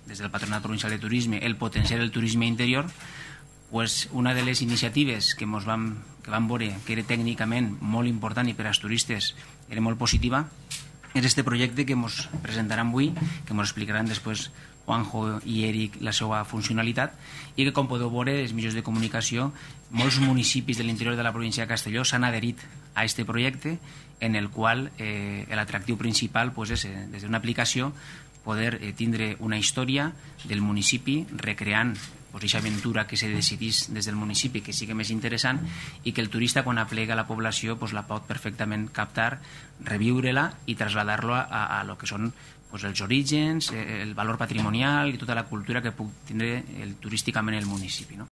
des del Patronat Provincial de Turisme, el potenciar el turisme interior, pues una de les iniciatives que vam veure que era tècnicament molt important i per als turistes era molt positiva és este projecte que ens presentaran avui, que ens explicaran després Juanjo i Eric la seva funcionalitat, i que, com podeu veure, els mitjans de comunicació, molts municipis de l'interior de la província de Castelló s'han adherit a aquest projecte, en el qual l'atractiu principal és, des d'una aplicació, poder tindre una història del municipi recreant aquesta aventura que se decidís des del municipi, que sigui més interessant, i que el turista, quan aplega la població, la pot perfectament captar, reviure-la i traslladar-lo a lo que són els orígens, el valor patrimonial i tota la cultura que puc tindre turísticament el municipi. No?